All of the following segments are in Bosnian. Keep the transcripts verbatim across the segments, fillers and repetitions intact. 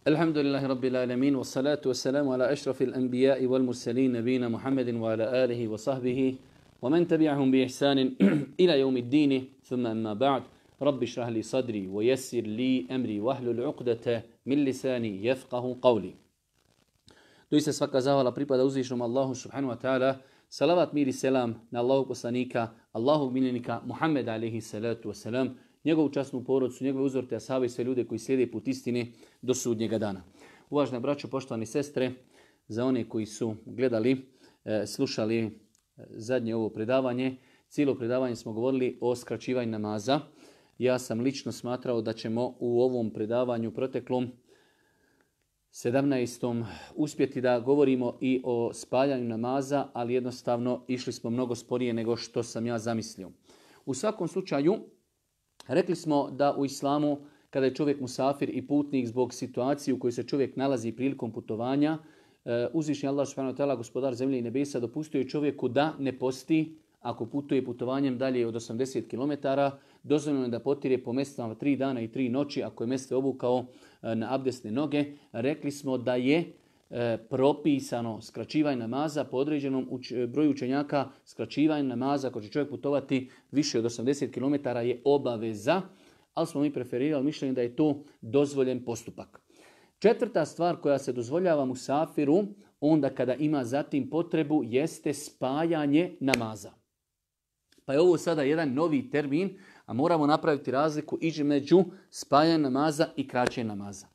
Alhamdulillahi Rabbil alamin, wa salatu wa salamu ala ašrafil anbiya'i wal mursalin, nabina Muhammedin wa ala alihi wa sahbihi, wa man tabi'ahum bi ihsanin ila yawmi ddini, thumma amma ba'd. Rabbi šrah li sadri, wa yassir li amri, wahlul uqdata min lisani yafqahu qawli. Doista svaka zahvala pripada uzvišenom Allahu subhanahu wa ta'ala. Salavat, mir i selam na Allahog poslanika, Allahog miljenika Muhammeda alaihi salatu wasalam, njegovu časnu porodcu, njegove uzorte ashabe i sve ljude koji slijede put istine do sudnjega dana. Uvažena braćo, poštovani sestre, za one koji su gledali, slušali zadnje ovo predavanje, cijelo predavanje smo govorili o skraćivanju namaza. Ja sam lično smatrao da ćemo u ovom predavanju proteklom sedamnaestom uspjeti da govorimo i o spaljanju namaza, ali jednostavno išli smo mnogo sporije nego što sam ja zamislio. U svakom slučaju, rekli smo da u islamu, kada je čovjek musafir i putnik zbog situacije u kojoj se čovjek nalazi prilikom putovanja, uzvišeni Allah subhanahu wa ta'ala, gospodar zemlje i nebesa, dopustio je čovjeku da ne posti ako putuje putovanjem dalje od osamdeset kilometara. Dozvoljeno je da potire po mestvama tri dana i tri noći ako je mestve obukao na abdesne noge. Rekli smo da je e, propisano skraćivanje namaza po određenom uč, broju učenjaka. Skraćivanje namaza ako će čovjek putovati više od osamdeset kilometara je obaveza, ali smo mi preferirali mišljenje da je to dozvoljen postupak. Četvrta stvar koja se dozvoljava musafiru onda kada ima zatim potrebu jeste spajanje namaza. Pa je ovo sada jedan novi termin, a moramo napraviti razliku između spajanja namaza i kraćenja namaza.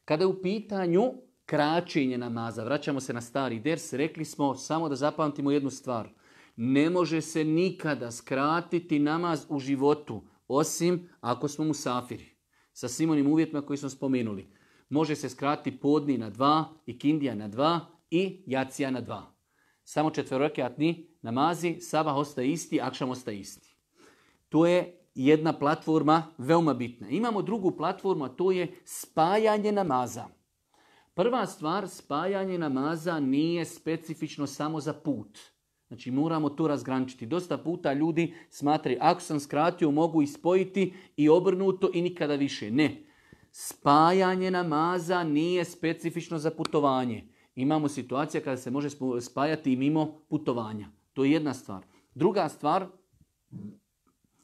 Kada je u pitanju kraćenje namaza, vraćamo se na stari ders, rekli smo samo da zapamtimo jednu stvar. Ne može se nikada skratiti namaz u životu, osim ako smo musafiri. Sa svim onim uvjetima koji smo spomenuli. Može se skratiti podni na dva, ikindija na dva i jacija na dva. Samo četverokatni namazi, sabah ostaje isti, akšam ostaje isti. To je jedna platforma veoma bitna. Imamo drugu platformu, a to je spajanje namaza. Prva stvar, spajanje namaza nije specifično samo za put. Znači moramo to razgraničiti. Dosta puta ljudi smatraju, ako sam skratio, mogu ispojiti i obrnuto i nikada više. Ne. Spajanje namaza nije specifično za putovanje. Imamo situacija kada se može spajati i mimo putovanja. To je jedna stvar. Druga stvar,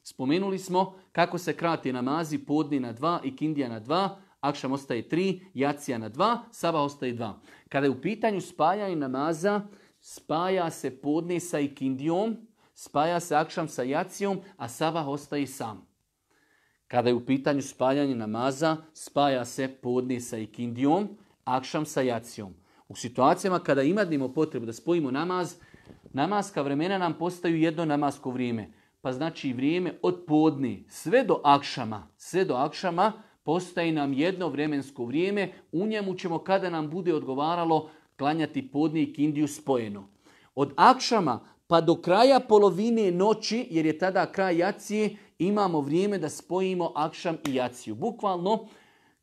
spomenuli smo kako se krati namazi, podni na dva, ikindija na dva, akšam ostaje tri, jacija na dva, sabah ostaje dva. Kada je u pitanju spajanja namaza, spaja se podni sa ikindijom, spaja se akšam sa jacijom, a sabah ostaje sam. Kada je u pitanju spajanja namaza, spaja se podni sa ikindijom, akšam sa jacijom. U situacijama kada imamo potrebu da spojimo namaz, namaska vremena nam postaju jedno namasko vrijeme. Pa znači vrijeme od podni sve do akšama, sve do akšama postaje nam jedno vremensko vrijeme. U njemu ćemo kada nam bude odgovaralo klanjati podni i ikindiju spojeno. Od akšama pa do kraja polovine noći, jer je tada kraj jacije, imamo vrijeme da spojimo akšam i jaciju. Bukvalno,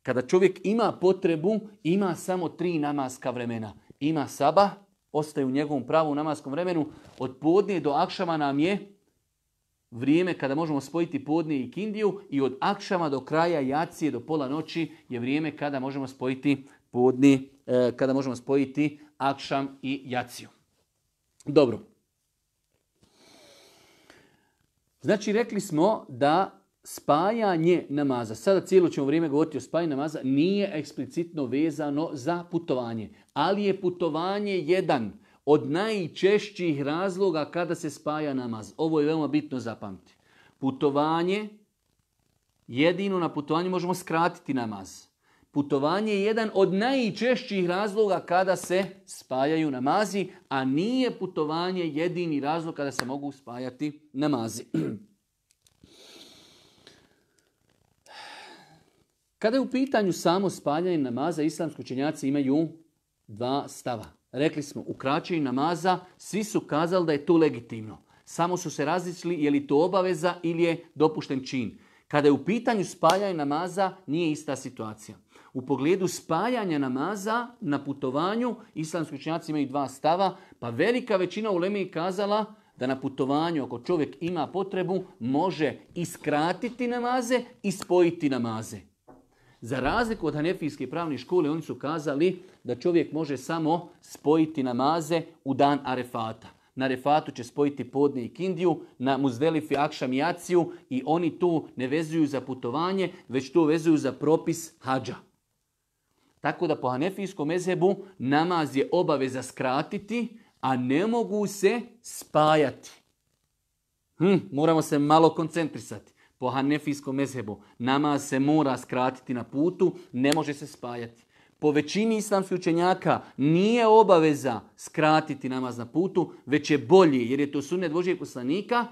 kada čovjek ima potrebu, ima samo tri namaska vremena. Ima sabah, ostaje u njegovom pravu namaskom vremenu. Od podnije do akšama nam je vrijeme kada možemo spojiti podnije i ikindiju i od akšama do kraja jacije do pola noći je vrijeme kada možemo spojiti podnije, eh, kada možemo spojiti akšam i jaciju. Dobro. Znači rekli smo da spajanje namaza, sada cijelo ćemo vrijeme govoriti o spajanju namaza, nije eksplicitno vezano za putovanje. Ali je putovanje jedan od najčešćih razloga kada se spaja namaz. Ovo je veoma bitno zapamtiti. Putovanje, jedino na putovanju možemo skratiti namaz. Putovanje je jedan od najčešćih razloga kada se spajaju namazi, a nije putovanje jedini razlog kada se mogu spajati namazi. Kada je u pitanju samo spajanje namaza, islamski učenjaci imaju dva stava. Rekli smo, u kraćenju namaza svi su kazali da je to legitimno. Samo su se različili je li to obaveza ili je dopušten čin. Kada je u pitanju spajanja namaza, nije ista situacija. U pogledu spajanja namaza na putovanju, islamski učenjaci imaju dva stava, pa velika većina uleme je kazala da na putovanju, ako čovjek ima potrebu, može iskratiti namaze i spojiti namaze. Za razliku od hanefijske pravne škole, oni su kazali da čovjek može samo spojiti namaze u dan Arefata. Na Arefatu će spojiti podne i kindiju, na Muzdelifi akšam i jaciju i oni tu ne vezuju za putovanje, već to vezuju za propis hadža. Tako da po hanefijskom mezhebu namaz je obaveza skratiti, a ne mogu se spajati. Hm, moramo se malo koncentrisati. Po hanefijskom mezhebu namaz se mora skratiti na putu, ne može se spajati. Po većini islamskih učenjaka nije obaveza skratiti namaz na putu, već je bolji, jer je to sunnet Božijeg poslanika,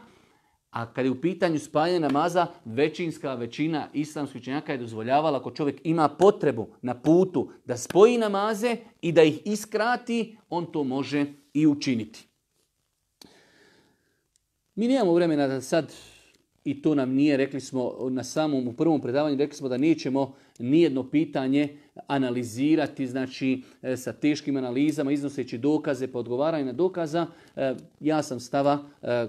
a kad je u pitanju spajanja namaza, većinska većina islamskih učenjaka je dozvoljavala ako čovjek ima potrebu na putu da spoji namaze i da ih iskrati, on to može i učiniti. Mi nemamo vremena da sad, i to nam nije, rekli smo na samom, u prvom predavanju, rekli smo da nećemo nijedno pitanje analizirati, znači sa teškim analizama, iznoseći dokaze, pa odgovaranje na dokaza. Ja sam stava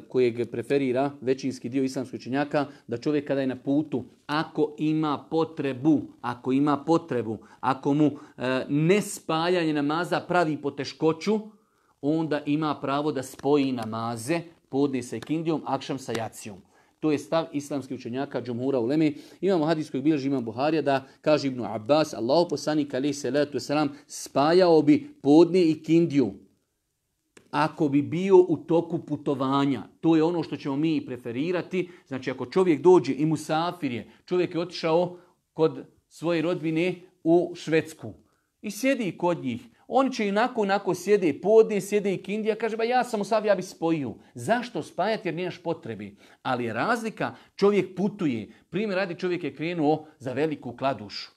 kojeg preferira većinski dio islamskih učenjaka, da čovjek kada je na putu, ako ima potrebu, ako ima potrebu, ako mu nespajanje namaza pravi poteškoću, onda ima pravo da spoji namaze, podne sa ikindijom, akšam sa jacijom. To je stav islamskih učenjaka džumhura uleme. Imamo hadis kojeg bilježi imam Buharija da kaže Ibnu Abbas, Allahu poslanik alejhi selatu vesselam spajao bi podne i kindiju ako bi bio u toku putovanja. To je ono što ćemo mi preferirati. Znači ako čovjek dođe i musafir je, čovjek je otišao kod svoje rodbine u Švedsku i sjedi kod njih. Oni će inako, onako sjede podne, sjede i kindija, kaže, ba ja sam u sav, ja bi spojio. Zašto spajati jer nemaš potrebi? Ali je razlika, čovjek putuje. Primjer radi, čovjek je krenuo za Veliku Kladušu.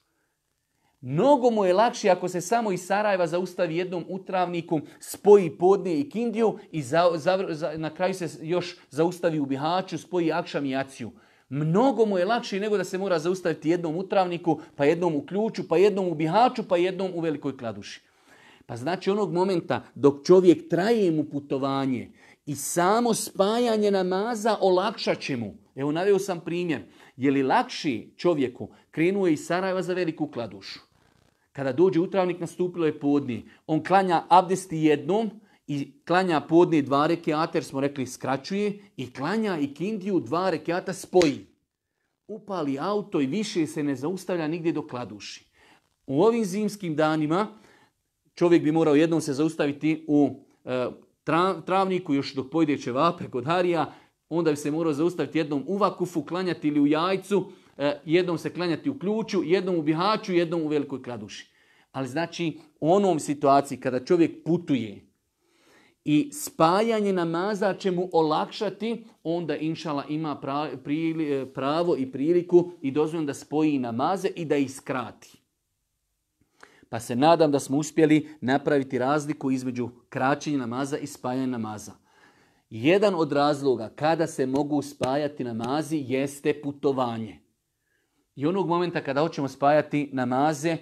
Mnogo mu je lakše ako se samo iz Sarajeva zaustavi jednom u Travniku, spoji podne i kindiju i za, za, za, na kraju se još zaustavi u Bihaću, spoji akšam i jaciju. Mnogo mu je lakše nego da se mora zaustaviti jednom u Travniku, pa jednom u Ključu, pa jednom u Bihaću, pa jednom u Velikoj Kladuši. Pa znači onog momenta dok čovjek traje mu putovanje i samo spajanje namaza olakšat će mu. Evo naveo sam primjer. Je li lakši čovjeku, krenuo je iz Sarajeva za Veliku Kladušu. Kada dođe u Travnik, nastupilo je podne. On klanja abdesti jednom i klanja podne dva rekiata, jer smo rekli skraćuje, i klanja i kindiju dva rekiata spoji. Upali auto i više se ne zaustavlja nigdje do Kladuši. U ovim zimskim danima čovjek bi morao jednom se zaustaviti u e, Travniku, još dok pojde ćevape kod Harija, onda bi se morao zaustaviti jednom u Vakufu, klanjati ili u Jajcu, e, jednom se klanjati u Ključu, jednom u Bihaću, jednom u Velikoj Kladuši. Ali znači u onom situaciji kada čovjek putuje i spajanje namaza će mu olakšati, onda inšala ima pravo i priliku i dozvoljeno da spoji namaze i da ih skrati. Pa se nadam da smo uspjeli napraviti razliku između kraćenja namaza i spajanja namaza. Jedan od razloga kada se mogu spajati namazi jeste putovanje. I onog momenta kada hoćemo spajati namaze,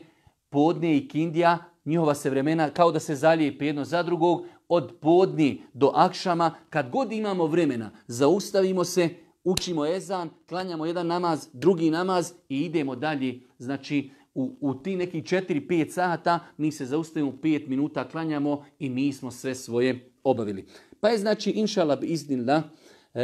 podne i kindija, njihova se vremena kao da se zalijepi jedno za drugog, od podni do akšama, kad god imamo vremena, zaustavimo se, učimo ezan, klanjamo jedan namaz, drugi namaz i idemo dalje. Znači, u, u ti neki četiri pet sata mi se zaustavimo, pet minuta klanjamo i mi smo sve svoje obavili. Pa je znači, inšala bi iznila,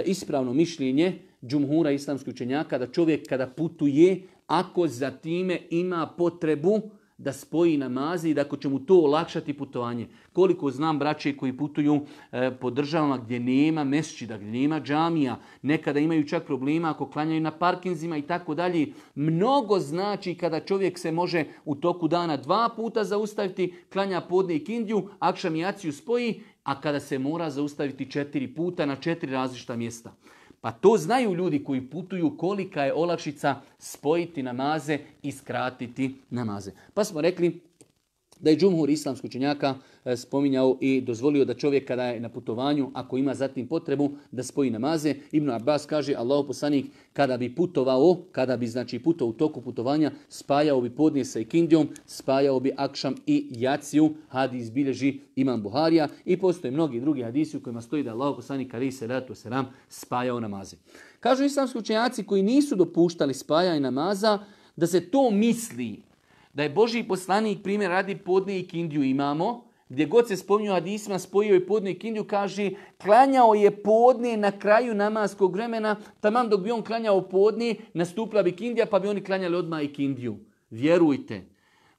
ispravno mišljenje džumhura islamskih učenjaka da čovjek kada putuje, ako za time ima potrebu da spoji namaze i da ako će mu to olakšati putovanje. Koliko znam braće koji putuju e, po državama gdje nema mesdžida, gdje nema džamija, nekada imaju čak problema ako klanjaju na parkinzima i tako dalje. Mnogo znači kada čovjek se može u toku dana dva puta zaustaviti, klanja podne i kindiju, akšam i jaciju spoji, a kada se mora zaustaviti četiri puta na četiri različita mjesta. Pa to znaju ljudi koji putuju kolika je olakšica spojiti namaze i skratiti namaze. Pa smo rekli da je džumhur islamskih učenjaka spominjao i dozvolio da čovjek kada je na putovanju, ako ima zatim potrebu, da spoji namaze. Ibn Abbas kaže, Allahu poslanik kada bi putovao, kada bi znači putovao u toku putovanja, spajao bi podne sa ikindijom, spajao bi akšam i jaciju. Hadis bilježi imam Buharija i postoje mnogi drugi hadisi u kojima stoji da Allahu poslanik alejhi selatu vesselam spajao namaze. Kažu islamski učenjaci koji nisu dopuštali spajanje namaza, da se to misli, da je Božji poslanik, primjer radi, podne i kindiju imamo, gdje god se spominju hadisima, spojio je podne i kindiju, kaže klanjao je podne na kraju namaskog vremena, taman dok bi on klanjao podne, nastupila bi kindija, pa bi oni klanjali odmah i kindiju. Vjerujte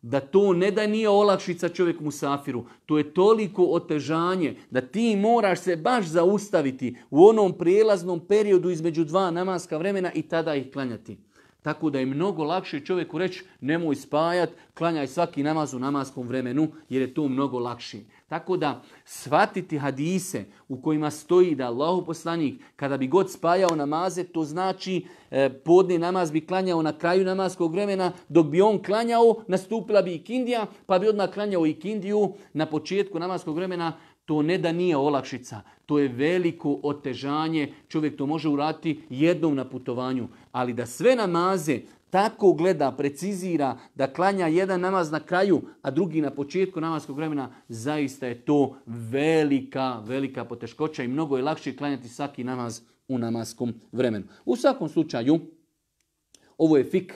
da to ne da nije olakšica čovjeku musafiru, to je toliko otežanje da ti moraš se baš zaustaviti u onom prijelaznom periodu između dva namaska vremena i tada ih klanjati. Tako da je mnogo lakše čovjeku reći nemoj spajat, klanjaj svaki namaz u namaskom vremenu jer je to mnogo lakše. Tako da shvatiti hadise u kojima stoji da Allahu poslanik kada bi god spajao namaze, to znači e, podne namaz bi klanjao na kraju namaskog vremena, dok bi on klanjao nastupila bi ikindija, pa bi odmah klanjao ikindiju na početku namaskog vremena. To ne da nije olakšica, to je veliko otežanje. Čovjek to može uraditi jednom na putovanju, ali da sve namaze tako gleda, precizira, da klanja jedan namaz na kraju, a drugi na početku namaskog vremena, zaista je to velika, velika poteškoća i mnogo je lakše klanjati svaki namaz u namaskom vremenu. U svakom slučaju, ovo je fik.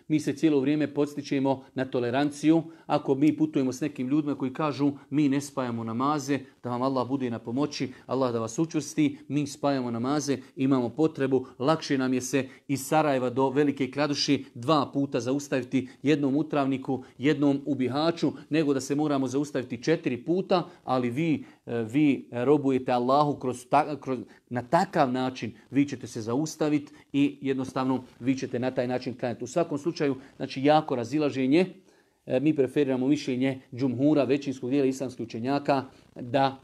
Mi se cijelo vrijeme podstičemo na toleranciju. Ako mi putujemo s nekim ljudima koji kažu mi ne spajamo namaze, da vam Allah bude na pomoći, Allah da vas učvrsti, mi spajamo namaze, imamo potrebu, lakše nam je se iz Sarajeva do Velike Kladuši dva puta zaustaviti, jednom u Travniku, jednom u Bihaću, nego da se moramo zaustaviti četiri puta, ali vi, vi robujete Allahu kroz, ta, kroz, na takav način, vi ćete se zaustaviti i jednostavno vi ćete na taj način klanjati. U svakom slučaju, znači jako razilaženje, mi preferiramo mišljenje džumhura, većinskog dijela islamskih učenjaka, da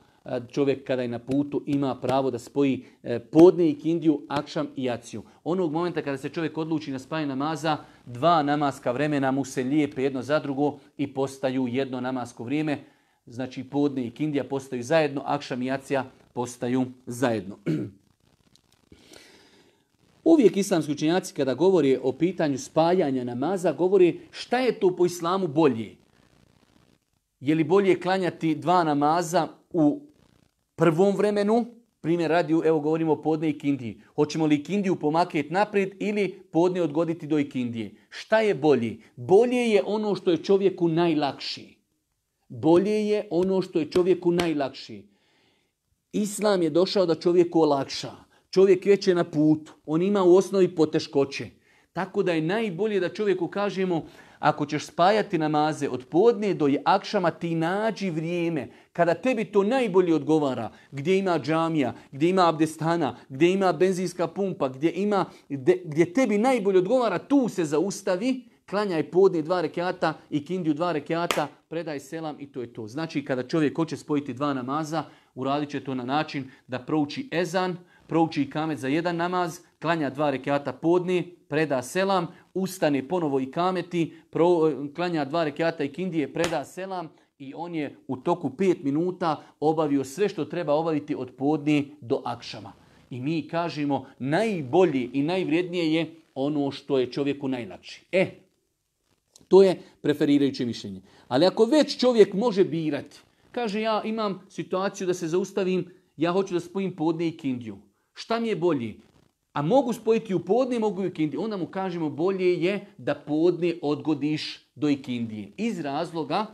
čovjek kada je na putu ima pravo da spoji podne i kindiju, akšam i jaciju. Onog momenta kada se čovjek odluči na spajanje namaza, dva namaska vremena mu se lijepe jedno za drugo i postaju jedno namasko vrijeme. Znači podne i kindija postaju zajedno, akšam i jacija postaju zajedno. Uvijek islamski učenjaci kada govori o pitanju spajanja namaza, govori šta je to po islamu bolje. Je li bolje klanjati dva namaza u prvom vremenu, primjer radi, evo govorimo o podne i kindiji. Hoćemo li kindiju pomaknuti naprijed ili podne odgoditi do ikindije? Šta je bolje? Bolje je ono što je čovjeku najlakši. Bolje je ono što je čovjeku najlakši. Islam je došao da čovjeku olakša. Čovjek već je na putu, on ima u osnovi poteškoće. Tako da je najbolje da čovjeku kažemo, ako ćeš spajati namaze od podne do akšama, ti nađi vrijeme kada tebi to najbolje odgovara, gdje ima džamija, gdje ima abdestana, gdje ima benzinska pumpa, gdje, ima, gdje, gdje tebi najbolje odgovara, tu se zaustavi, klanjaj podne dva rekiata i kindiju dva rekiata, predaj selam i to je to. Znači kada čovjek hoće spojiti dva namaza, uradit će to na način da prouči ezan, prouči ikamet za jedan namaz, klanja dva rekiata podne, preda selam, ustane ponovo ikameti, pro, klanja dva rekiata ikindije, preda selam i on je u toku pet minuta obavio sve što treba obaviti od podne do akšama. I mi kažemo najbolje i najvrijednije je ono što je čovjeku najlakše. E, to je preferirajuće mišljenje. Ali ako već čovjek može birati, kaže ja imam situaciju da se zaustavim, ja hoću da spojim podne i kindiju. Šta mi je bolje? A mogu spojiti u podne, mogu i u ikindiju. Onda mu kažemo bolje je da podne odgodiš do ikindije. Iz razloga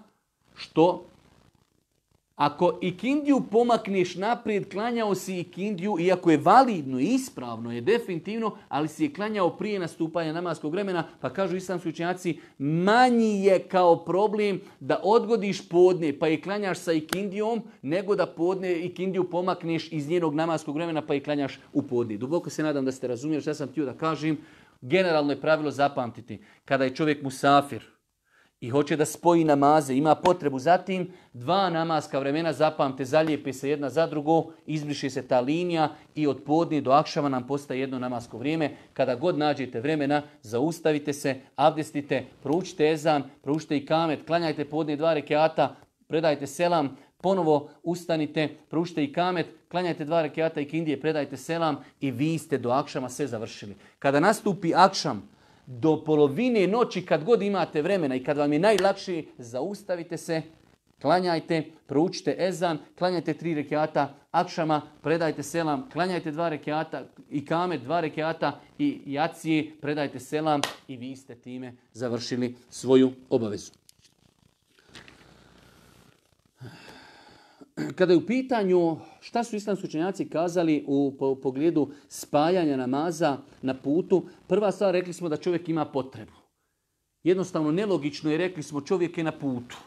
što ako ikindiju pomakneš naprijed, klanjao si ikindiju, iako je validno i ispravno, je definitivno, ali si je klanjao prije nastupanja namaskog vremena, pa kažu islamski učenjaci, manji je kao problem da odgodiš podne pa je klanjaš sa ikindijom, nego da podne ikindiju pomakneš iz njenog namaskog vremena pa je klanjaš u podne. Duboko se nadam da ste razumjeli što sam htio da kažem. Generalno je pravilo zapamtiti, kada je čovjek musafir i hoće da spoji namaze, ima potrebu zatim, dva namaska vremena, zapamte, zalijepe se jedna za drugo, izbriše se ta linija i od podne do akšama nam postaje jedno namasko vrijeme. Kada god nađete vremena, zaustavite se, abdestite, proučite ezan, proučite ikamet, klanjajte podne dva rekiata, predajte selam, ponovo ustanite, proučite ikamet, klanjajte dva rekiata ikindije, predajte selam i vi ste do akšama sve završili. Kada nastupi akšam, do polovine noći kad god imate vremena i kad vam je najlakše, zaustavite se, klanjajte, proučite ezan, klanjajte tri rekiata, akšama predajte selam, klanjajte dva rekiata, i kamet dva rekiata i jacije predajte selam i vi ste time završili svoju obavezu. Kada je u pitanju šta su islamski učenjaci kazali u pogledu spajanja namaza na putu, prva stvar rekli smo da čovjek ima potrebu. Jednostavno nelogično je, rekli smo čovjek je na putu.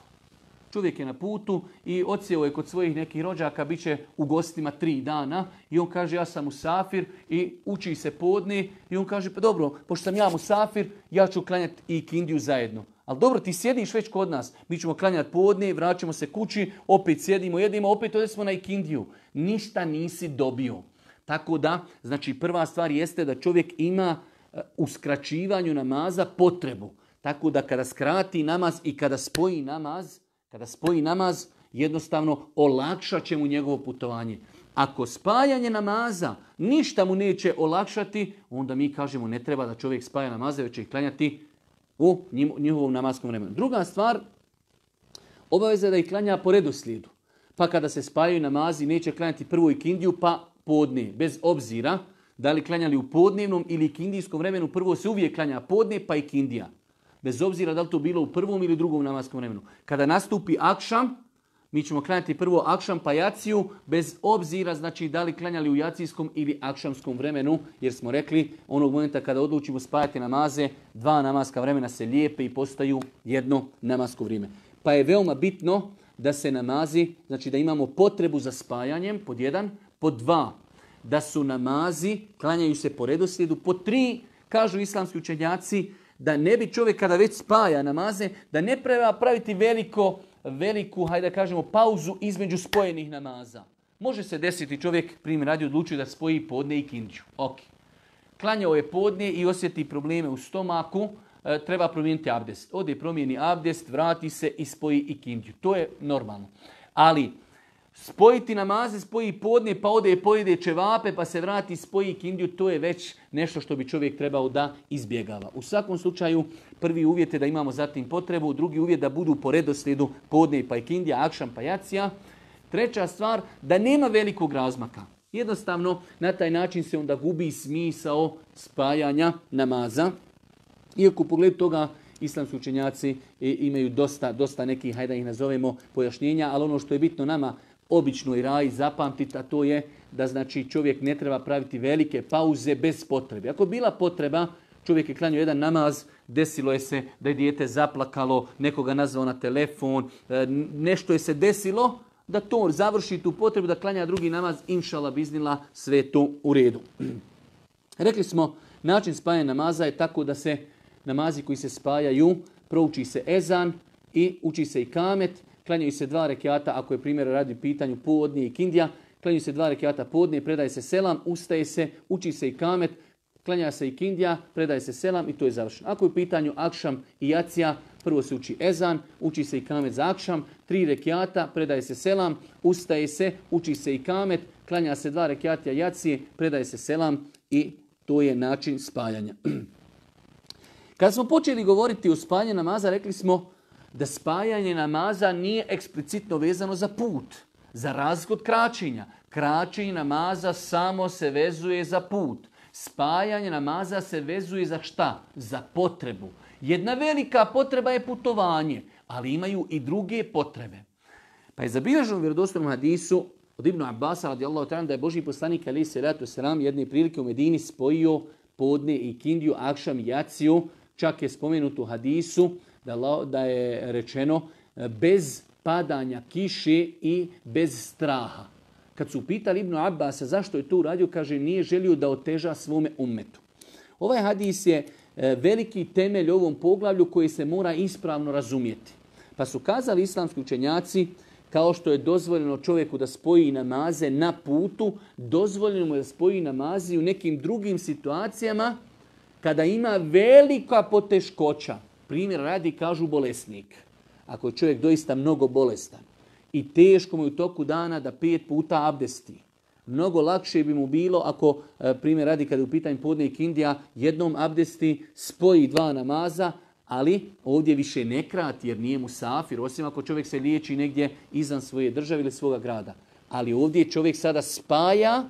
Čovjek je na putu i odsjeo je kod svojih nekih rođaka, bit će u gostima tri dana i on kaže ja sam musafir i uči se podne i on kaže pa dobro, pošto sam ja musafir, ja ću klanjati i ikindiju zajedno. Ali dobro, ti sjediš već kod nas, mi ćemo klanjati podne, vraćamo se kući, opet sjedimo, jedimo, opet odemo na ikindiju. Ništa nisi dobio. Tako da, znači prva stvar jeste da čovjek ima u skraćivanju namaza potrebu. Tako da kada skrati namaz i kada spoji namaz, kada spoji namaz, jednostavno olakšat će mu njegovo putovanje. Ako spajanje namaza ništa mu neće olakšati, onda mi kažemo ne treba da čovjek spaja namaze, već će ih klanjati u njihovom namaskom vremenu. Druga stvar, obaveza je da ih klanja po redoslijedu. Pa kada se spajaju namazi, neće klanjati prvo ikindiju pa podne, bez obzira da li klanjali u podnevnom ili ikindijskom vremenu, prvo se uvijek klanja podne pa ikindija. Bez obzira da li to bilo u prvom ili drugom namaskom vremenu. Kada nastupi akšam, mi ćemo klanjati prvo akšam pa jaciju, bez obzira znači da li klanjali u jacijskom ili akšamskom vremenu, jer smo rekli onog momenta kada odlučimo spajati namaze, dva namaska vremena se lijepe i postaju jedno namasko vrijeme. Pa je veoma bitno da se namazi, znači da imamo potrebu za spajanjem, pod jedan, pod dva, da su namazi, klanjaju se po redoslijedu, pod tri, kažu islamski učenjaci, da ne bi čovjek kada već spaja namaze, da ne treba praviti veliko, veliku, hajde da kažemo, pauzu između spojenih namaza. Može se desiti čovjek, primjer radi, odlučuje da spoji podne i ikindiju. Ok. Klanjao je podne i osjeti probleme u stomaku, e, treba promijeniti abdest. Ode promijeni abdest, vrati se i spoji ikindiju. To je normalno. Ali spojiti namaze, spoji podne, pa ode i pojede ćevape, pa se vrati i spoji ikindiju, to je već nešto što bi čovjek trebao da izbjegava. U svakom slučaju, prvi uvjet je da imamo zatim potrebu, drugi uvjet da budu po redoslijedu podne pa ikindija, akšam pa jacija. Treća stvar, da nema velikog razmaka. Jednostavno, na taj način se onda gubi smisao spajanja namaza. Iako u pogledu toga islamski učenjaci imaju dosta, dosta nekih, hajde da ih nazovemo, pojašnjenja, ali ono što je bitno nama obično i raji zapamtiti, a to je da znači čovjek ne treba praviti velike pauze bez potrebe. Ako bila potreba, čovjek je klanjao jedan namaz, desilo je se da je dijete zaplakalo, nekoga nazvao na telefon, nešto je se desilo, da to završi tu potrebu, da klanja drugi namaz, inšala biznila, sve to u redu. Rekli smo, način spajanja namaza je tako da se namazi koji se spajaju, prouči se ezan i uči se i kamet, klanjaju se dva rekiata, ako je primjer radi u pitanju podne i ikindija, klanjaju se dva rekiata podne, predaje se selam, ustaje se, uči se i kamet, klanja se ikindija, predaje se selam i to je završeno. Ako je u pitanju akšam i jacija, prvo se uči ezan, uči se i kamet za akšam, tri rekiata, predaje se selam, ustaje se, uči se i kamet, klanja se dva rekiata jacije, predaje se selam i to je način spajanja. Kada smo počeli govoriti o spajanju namaza, rekli smo da spajanje namaza nije eksplicitno vezano za put, za razliku od kraćenja. Kraćenje namaza samo se vezuje za put. Spajanje namaza se vezuje za šta? Za potrebu. Jedna velika potreba je putovanje, ali imaju i druge potrebe. Pa je zabilježeno u vjerodostojnom hadisu od Ibnu Abbasa radijallahu ta'ala da je Božji poslanik alejhi selatu selam jedne prilike u Medini spojio podne i ikindiju, akšam i jaciju. Čak je spomenuto u hadisu da, da je rečeno bez padanja kiše i bez straha. Kad su pitali Ibnu Abbasa zašto je to uradio, kaže nije želio da oteža svome ummetu. Ovaj hadis je veliki temelj ovom poglavlju koji se mora ispravno razumjeti. Pa su kazali islamski učenjaci, kao što je dozvoljeno čovjeku da spoji namaze na putu, dozvoljeno mu je da spoji namazi u nekim drugim situacijama kada ima velika poteškoća. Primjer radi, kažu bolesnik. Ako je čovjek doista mnogo bolestan i teško mu je u toku dana da pet puta abdesti, mnogo lakše bi mu bilo ako, primjer radi, kada je u pitanju podne i ikindija, jednom abdesti, spoji dva namaza, ali ovdje više ne krati jer nije musafir, osim ako čovjek se liječi negdje izvan svoje države ili svoga grada. Ali ovdje čovjek sada spaja,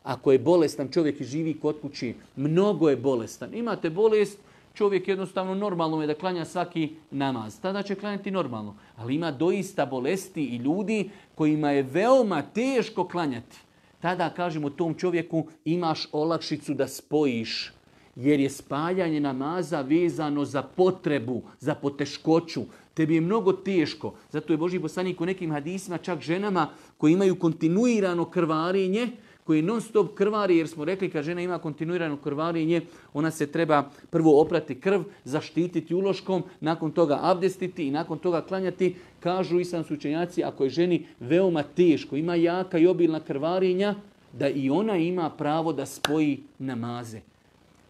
ako je bolestan čovjek i živi kod kući, mnogo je bolestan. Imate bolest, čovjek jednostavno normalno je da klanja svaki namaz. Tada će klanjati normalno. Ali ima doista bolesti i ljudi kojima je veoma teško klanjati. Tada kažemo tom čovjeku imaš olakšicu da spojiš. Jer je spajanje namaza vezano za potrebu, za poteškoću. Tebi je mnogo teško. Zato je Božji poslanik u nekim hadisima čak ženama koji imaju kontinuirano krvarenje, koji non stop krvari, jer smo rekli kad žena ima kontinuirano krvarenje, ona se treba prvo oprati krv, zaštititi uloškom, nakon toga abdestiti i nakon toga klanjati. Kažu islamski učenjaci, ako je ženi veoma teško, ima jaka i obilna krvarenja, da i ona ima pravo da spoji namaze.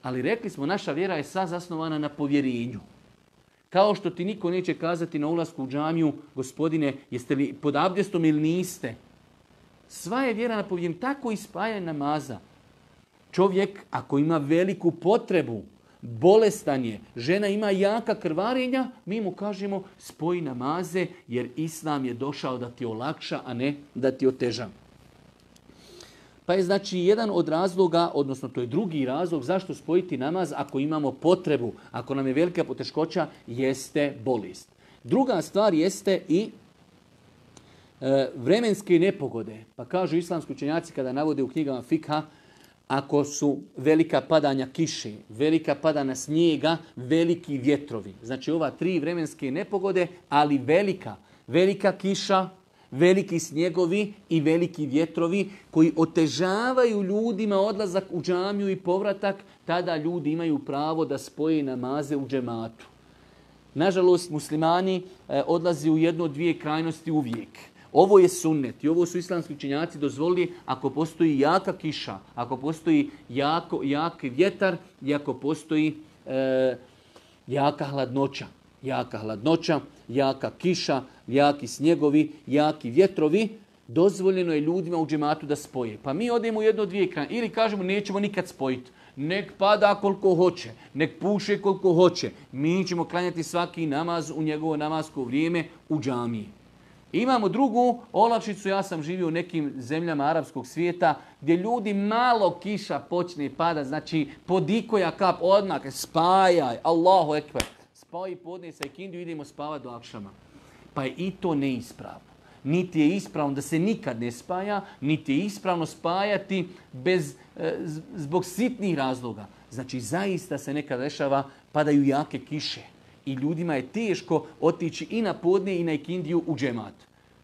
Ali rekli smo, naša vjera je sva zasnovana na povjerenju. Kao što ti niko neće kazati na ulasku u džamiju, gospodine, jeste li pod abdestom ili niste? Sva je vjera na povjerenju, tako i spajanje namaza. Čovjek, ako ima veliku potrebu, bolestan je, žena ima jaka krvarenja, mi mu kažemo spoji namaze, jer Islam je došao da ti olakša, a ne da ti oteža. Pa je znači jedan od razloga, odnosno to je drugi razlog zašto spojiti namaz ako imamo potrebu, ako nam je velika poteškoća, jeste bolest. Druga stvar jeste i e, vremenske nepogode. Pa kažu islamski učenjaci kada navode u knjigama fikha, ako su velika padanja kiše, velika padanja snijega, veliki vjetrovi. Znači ova tri vremenske nepogode, ali velika, velika kiša, veliki snjegovi i veliki vjetrovi koji otežavaju ljudima odlazak u džamiju i povratak, tada ljudi imaju pravo da spoje namaze u džematu. Nažalost, muslimani eh, odlazi u jednu od dvije krajnosti uvijek. Ovo je sunnet i ovo su islamski učenjaci dozvolili ako postoji jaka kiša, ako postoji jako, jaki vjetar i ako postoji eh, jaka hladnoća. Jaka hladnoća, jaka kiša, jaki snjegovi, jaki vjetrovi, dozvoljeno je ljudima u džematu da spoje. Pa mi odemo u jedno od dvije krajine. Ili kažemo nećemo nikad spojiti. Nek pada koliko hoće, nek puše koliko hoće. Mi ćemo klanjati svaki namaz u njegovo namasko vrijeme u džamiji. Imamo drugu olakšicu, ja sam živio u nekim zemljama arapskog svijeta gdje ljudi malo kiša počne pada, znači podikoja kap odmah, spajaj, Allahu ekber. Spaji podne sa ikindiju, idemo spavati do akšama. Pa je i to neispravno. Niti je ispravno da se nikad ne spaja, niti je ispravno spajati bez, e, zbog sitnih razloga. Znači, zaista se nekad dešava, padaju jake kiše. I ljudima je teško otići i na podne i na ikindiju u džemat.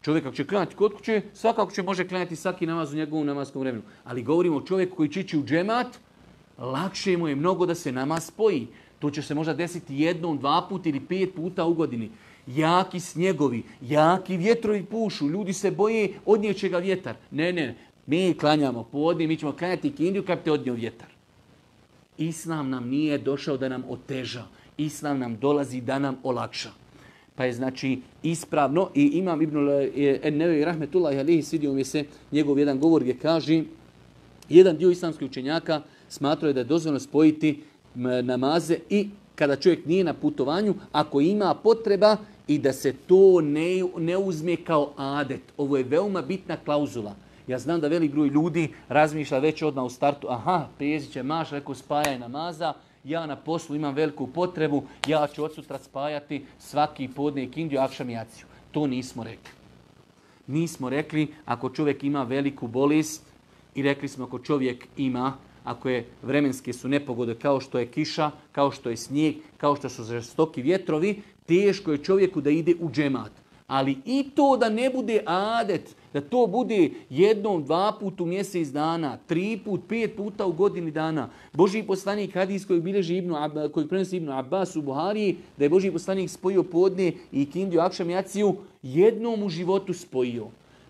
Čovjek ako će klanjati kod kuće, svakako će može klanjati svaki namaz u njegovom namaskom vremenu. Ali govorimo o čovjeku koji će ići u džemat, lakše mu je mnogo da se namaz spoji. To će se možda desiti jednom, dva puta ili pet puta u godini. Jaki snjegovi, jaki vjetrovi pušu, ljudi se boje odnijeće ga vjetar. Ne, ne, mi klanjamo podne, mi ćemo klanjati ikindiju kad te odnio vjetar. Islam nam nije došao da nam oteža. Islam nam dolazi da nam olakša. Pa je znači ispravno i imam Ibn Nevevi rahmetullahi alihi, svidio mi se njegov jedan govor gdje kaže, jedan dio islamskih učenjaka smatrao je da je dozvoljeno spojiti namaze i kada čovjek nije na putovanju, ako ima potreba i da se to ne, ne uzme kao adet. Ovo je veoma bitna klauzula. Ja znam da velik broj ljudi razmišlja već odmah u startu, aha, prijezit će maš, rekao spajaj namaza, ja na poslu imam veliku potrebu, ja ću od sutra spajati svaki podne ikindiju, akšam i jaciju. To nismo rekli. Nismo rekli ako čovjek ima veliku bolest i rekli smo ako čovjek ima, ako je vremenske su nepogode kao što je kiša, kao što je snijeg, kao što su žestoki vjetrovi, teško je čovjeku da ide u džemat. Ali i to da ne bude adet, da to bude jednom, dva put u mjesec dana, tri put, pet puta u godini dana. Božji poslanik hadis koji bilježi Ibnu, koji prenosi Ibnu Abbas u Buhariji, da je Božji poslanik spojio podne i ikindiju, akšam i jaciju, jednom u životu spojio.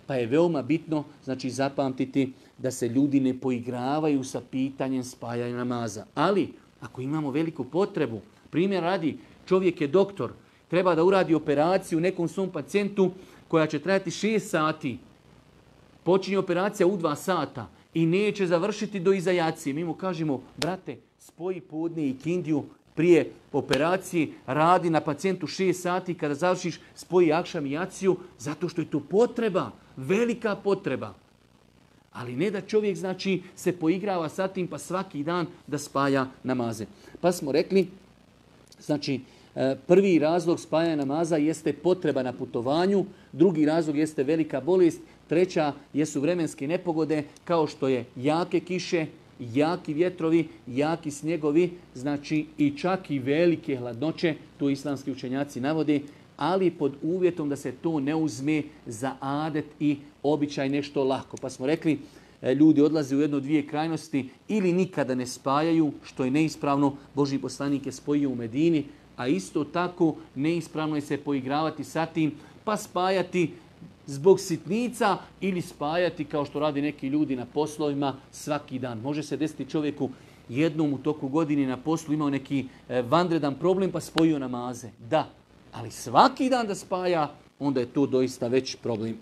Pa je veoma bitno, znači zapamtiti da se ljudi ne poigravaju sa pitanjem spajanja namaza. Ali, ako imamo veliku potrebu, primjer radi, čovjek je doktor, treba da uradi operaciju nekom svom pacijentu koja će trajati šest sati. Počinje operacija u dva sata i neće završiti do iza jacije. Mi mu kažemo, brate, spoji podne i ikindiju prije operacije, radi na pacijentu šest sati, kada završiš spoji akšam i jaciju, zato što je to potreba. velika potreba. Ali ne da čovjek znači se poigrava sa tim pa svaki dan da spaja namaze. Pa smo rekli, znači prvi razlog spajanja namaza jeste potreba na putovanju, drugi razlog jeste velika bolest, treća jesu vremenske nepogode kao što je jake kiše, jaki vjetrovi, jaki snjegovi, znači i čak i velike hladnoće, to islamski učenjaci navode, ali pod uvjetom da se to ne uzme za adet i običaj nešto lako. Pa smo rekli, ljudi odlaze u jedno dvije krajnosti ili nikada ne spajaju, što je neispravno, Božji poslanik je spojio u Medini, a isto tako neispravno je se poigravati sa tim, pa spajati zbog sitnica ili spajati kao što radi neki ljudi na poslovima svaki dan. Može se desiti čovjeku jednom u toku godine na poslu imao neki vanredan problem pa spojio namaze. Da, ali svaki dan da spaja, onda je to doista već problem.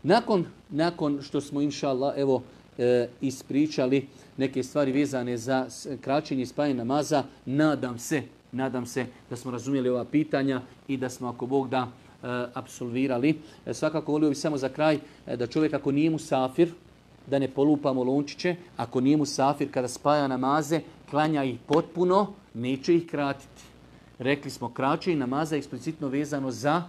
Nakon, nakon što smo, inša Allah, evo, e, ispričali neke stvari vezane za kraćenje i spajanje namaza, nadam se, nadam se da smo razumjeli ova pitanja i da smo, ako Bog da, e, apsolvirali. E, svakako volio bi samo za kraj e, da čovjek ako nije musafir, da ne polupamo lončiće, ako nije musafir kada spaja namaze, klanja ih potpuno, neće ih kratiti. Rekli smo, kraćenje namaza je eksplicitno vezano za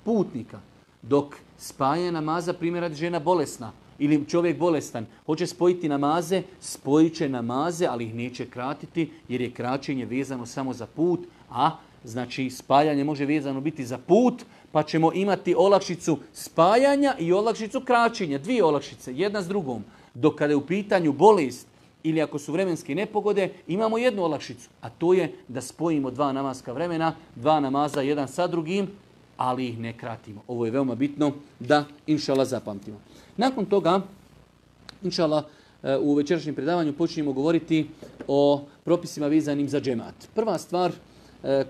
putnika. Dok spajanje namaza, primjer radi žena bolesna ili čovjek bolestan, hoće spojiti namaze, spojit će namaze, ali ih neće kratiti jer je kraćenje vezano samo za put, a znači spajanje može vezano biti za put, pa ćemo imati olakšicu spajanja i olakšicu kraćenja, dvije olakšice, jedna s drugom. Dok kada je u pitanju bolest ili ako su vremenske nepogode, imamo jednu olakšicu, a to je da spojimo dva namaska vremena, dva namaza jedan sa drugim, ali ih ne kratimo. Ovo je veoma bitno da, inša Allah, zapamtimo. Nakon toga, inša Allah, u večerašnjem predavanju počinjemo govoriti o propisima vezanim za džemat. Prva stvar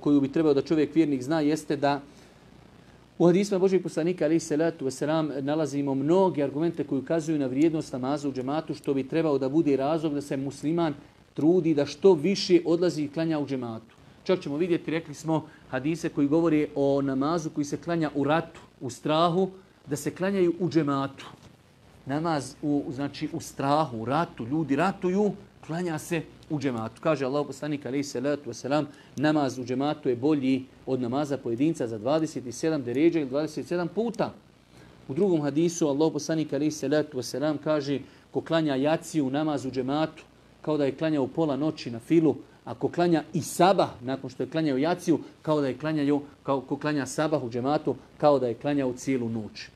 koju bi trebao da čovjek vjernik zna jeste da u hadisima Božijeg poslanika alejhi selatu vesselam nalazimo mnoge argumente koji ukazuju na vrijednost namaza u džematu, što bi trebao da bude razlog da se musliman trudi da što više odlazi i klanja u džematu. Čak ćemo vidjeti, rekli smo, hadise koji govore o namazu koji se klanja u ratu, u strahu, da se klanjaju u džematu. Namaz u, znači, u strahu, u ratu, ljudi ratuju, klanja se u džematu. Kaže Allah poslanik alejhi selatu vesselam, namaz u džematu je bolji od namaza pojedinca za dvadeset sedam deređa ili dvadeset sedam puta. U drugom hadisu Allah poslanik alejhi selatu vesselam kaže, ko klanja jaciju namaz u džematu, kao da je klanjao pola noći na filu, ako klanja i sabah, nakon što je klanjao jaciju, kao da je klanjao, kao ko klanja sabah u džematu, kao da je klanjao cijelu noć.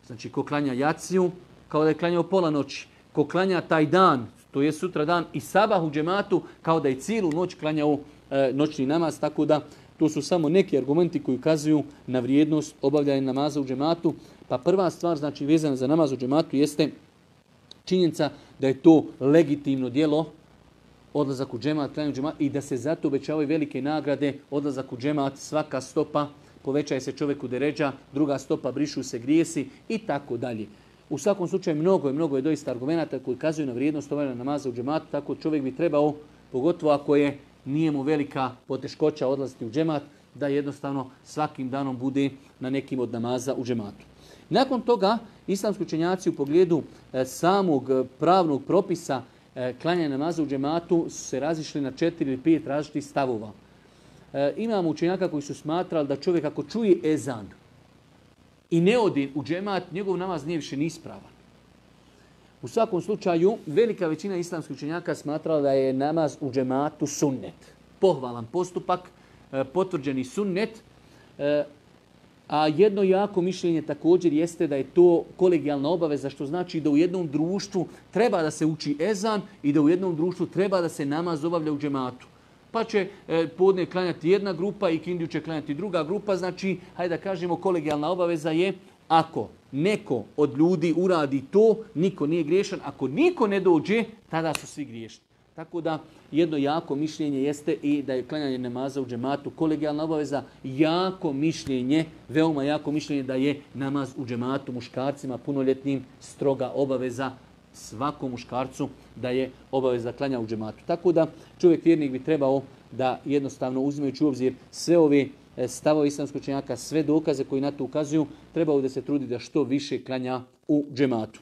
Znači, ko klanja jaciju, kao da je klanjao pola noći. Ko klanja taj dan, to je sutra dan, i sabah u džematu, kao da je cijelu noć klanjao e, noćni namaz. Tako da, to su samo neki argumenti koji ukazuju na vrijednost obavljanja namaza u džematu. Pa prva stvar, znači, vezana za namaz u džematu, jeste činjenica da je to legitimno djelo, odlazak u džemat, klanjanje u džemat, i da se zato obećavaju velike nagrade, odlazak u džemat, svaka stopa povećaje se čovjeku deređa, druga stopa brišu se grijesi i tako dalje. U svakom slučaju mnogo je, mnogo je doista argumenata koji kazuju na vrijednost obavljanja namaza u džematu, tako čovjek bi trebao, pogotovo ako je nije mu velika poteškoća odlaziti u džemat, da jednostavno svakim danom bude na nekim od namaza u džematu. Nakon toga, islamski učenjaci u pogledu e, samog pravnog propisa e, klanjanja namaza u džematu su se razišli na četiri ili pet različitih stavova. E, imamo učenjaka koji su smatrali da čovjek ako čuje ezan i ne odi u džemat, njegov namaz nije više neispravan. U svakom slučaju, velika većina islamskih učenjaka smatrala da je namaz u džematu sunnet. Pohvalan postupak, e, potvrđeni sunnet, e, a jedno jako mišljenje također jeste da je to kolegijalna obaveza, što znači da u jednom društvu treba da se uči ezan i da u jednom društvu treba da se namaz obavlja u džematu. Pa će e, podne klanjati jedna grupa i kindiju će klanjati druga grupa. Znači, hajde da kažemo, kolegijalna obaveza je ako neko od ljudi uradi to, niko nije griješan. Ako niko ne dođe, tada su svi griješni. Tako da jedno jako mišljenje jeste i da je klanjanje namaza u džematu kolegijalna obaveza. Jako mišljenje, veoma jako mišljenje da je namaz u džematu muškarcima punoljetnim stroga obaveza, svakom muškarcu da je obaveza klanja u džematu. Tako da čovjek vjernik bi trebao da jednostavno, uzimajući u obzir sve ove stavove islamskog učenjaka, sve dokaze koji na to ukazuju, trebao da se trudi da što više klanja u džematu.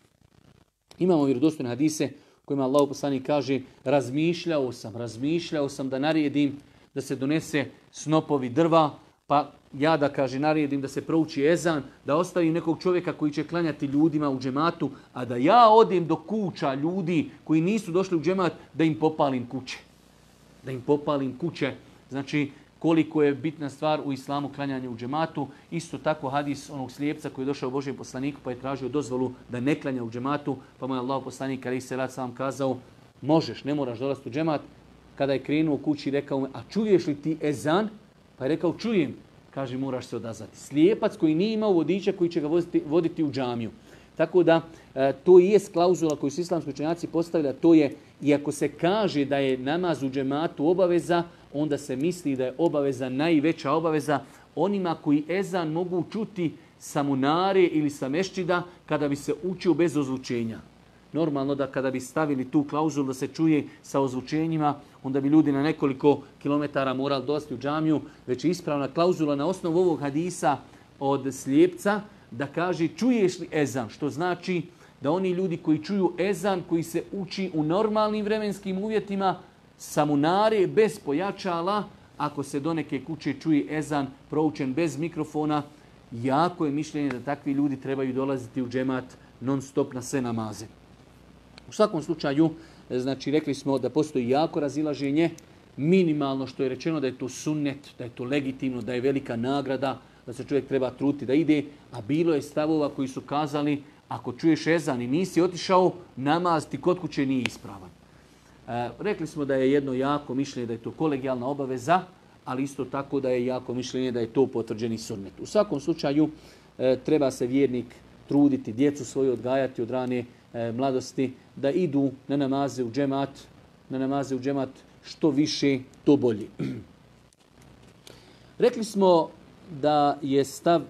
Imamo vjerodostojne hadise kojima Allahu poslanik kaže razmišljao sam, razmišljao sam da naredim da se donese snopovi drva, pa ja da kaže naredim da se prouči ezan, da ostavim nekog čovjeka koji će klanjati ljudima u džematu, a da ja odem do kuća ljudi koji nisu došli u džemat, da im popalim kuće. Da im popalim kuće. Znači, koliko je bitna stvar u islamu klanjanje u džematu. Isto tako hadis onog slijepca koji je došao Božijem poslaniku pa je tražio dozvolu da ne klanja u džematu, pa mu je Allah poslanik alejhi selatu selam kazao možeš, ne moraš dolaziti u džemat. Kada je krenuo kući rekao mu, a čuješ li ti ezan? Pa je rekao čujem. Kaže moraš se odazvati. Slijepac koji nije imao vodiča koji će ga voditi, voditi u džamiju. Tako da e, to i je klauzula koju su islamski učenjaci postavili, a to je iako se kaže da je namaz u džematu obaveza, onda se misli da je obaveza najveća obaveza onima koji ezan mogu čuti sa munare ili sa mešćida kada bi se učio bez ozvučenja. Normalno da kada bi stavili tu klauzulu da se čuje sa ozvučenjima, onda bi ljudi na nekoliko kilometara morali dolaziti u džamiju, već je ispravna klauzula na osnovu ovog hadisa od slijepca da kaže čuješ li ezan, što znači da oni ljudi koji čuju ezan, koji se uči u normalnim vremenskim uvjetima, sa munare, bez pojačala, ako se do neke kuće čuje ezan proučen bez mikrofona, jako je mišljenje da takvi ljudi trebaju dolaziti u džemat non stop na sve namaze. U svakom slučaju, znači rekli smo da postoji jako razilaženje, minimalno što je rečeno da je to sunnet, da je to legitimno, da je velika nagrada, da se čovjek treba truditi da ide, a bilo je stavova koji su kazali ako čuješ ezan i nisi otišao, namaz ti kod kuće nije ispravan. E, rekli smo da je jedno jako mišljenje da je to kolegijalna obaveza, ali isto tako da je jako mišljenje da je to potvrđeni sunnet. U svakom slučaju e, treba se vjernik truditi, djecu svoju odgajati od rane e, mladosti, da idu na namaze u džemat, na namaze u džemat što više, to bolje. Rekli smo da je stav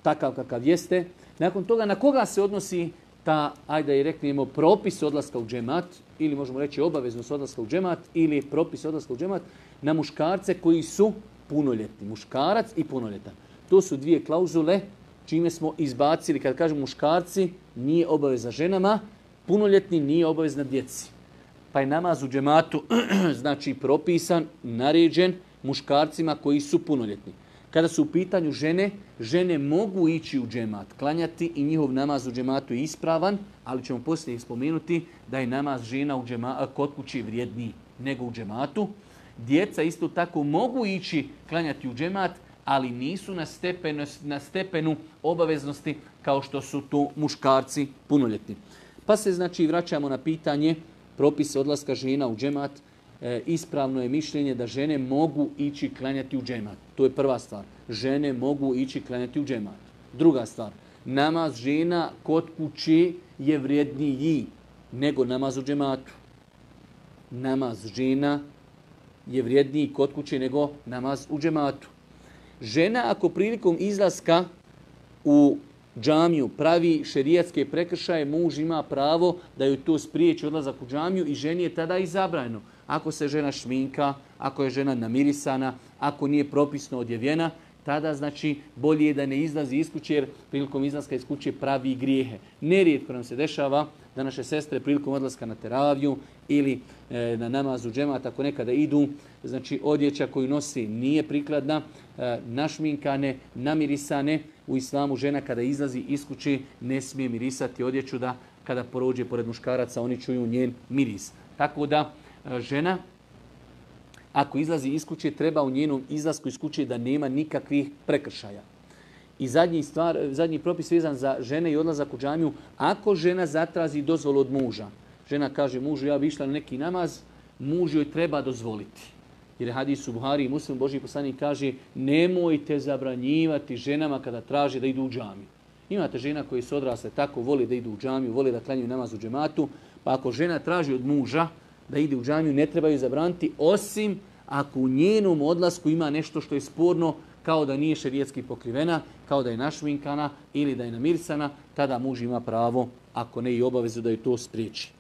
takav kakav jeste. Nakon toga na koga se odnosi ta, ajde i reknemo, propis odlaska u džemat, ili možemo reći obaveznost odlaska u džemat, ili propis odlaska u džemat, na muškarce koji su punoljetni. Muškarac i punoljetan. To su dvije klauzule čime smo izbacili, kad kažemo muškarci, nije obaveza ženama, punoljetni nije obavezna djeci. Pa je namaz u džematu znači propisan, naređen muškarcima koji su punoljetni. Kada su u pitanju žene, žene mogu ići u džemat, klanjati i njihov namaz u džematu je ispravan, ali ćemo poslije spomenuti da je namaz žena u džema, kod kući vrijedniji nego u džematu. Djeca isto tako mogu ići klanjati u džemat, ali nisu na stepenu, na stepenu obaveznosti kao što su to muškarci punoljetni. Pa se znači vraćamo na pitanje propisa odlaska žena u džemat. E, ispravno je mišljenje da žene mogu ići klanjati u džemat. To je prva stvar. Žene mogu ići klanjati u džemat. Druga stvar. Namaz žena kod kući je vrijedniji nego namaz u džematu. Namaz žena je vrijedniji kod kuće nego namaz u džematu. Žena ako prilikom izlaska u džamiju pravi šerijatske prekršaje, muž ima pravo da joj to spriječi odlazak u džamiju i ženi je tada i zabranjeno. Ako se žena šminka, ako je žena namirisana, ako nije propisno odjevena, tada znači bolje je da ne izlazi iz kuće jer prilikom izlaska iz kuće pravi grijehe. Nerijetko nam se dešava da naše sestre prilikom odlaska na teraviju ili e, na namazu džemat, ako nekada idu, znači odjeća koju nosi nije prikladna, e, našminkane, namirisane. U islamu žena kada izlazi iz kuće ne smije mirisati odjeću da kada prođe pored muškaraca oni čuju njen miris. Tako da e, žena ako izlazi iz kuće treba u njenom izlasku iz kuće da nema nikakvih prekršaja. I zadnji, stvar, zadnji propis vezan za žene i odlazak u džamiju, ako žena zatrazi dozvolu od muža, žena kaže mužu ja bi išla na neki namaz, muž joj treba dozvoliti. Jer je hadis u Buhari i Muslim, Božji poslanik kaže nemojte zabranjivati ženama kada traže da idu u džamiju. Imate žena koji su odrasle tako, voli da idu u džamiju, voli da klanjaju namaz u džematu, pa ako žena traži od muža da ide u džamiju, ne treba ju zabraniti, osim ako u njenom odlasku ima nešto što je sporno, kao da nije šerijatski pokrivena, kao da je našminkana ili da je namirisana, tada muž ima pravo, ako ne i obavezu, da ju to spriječi.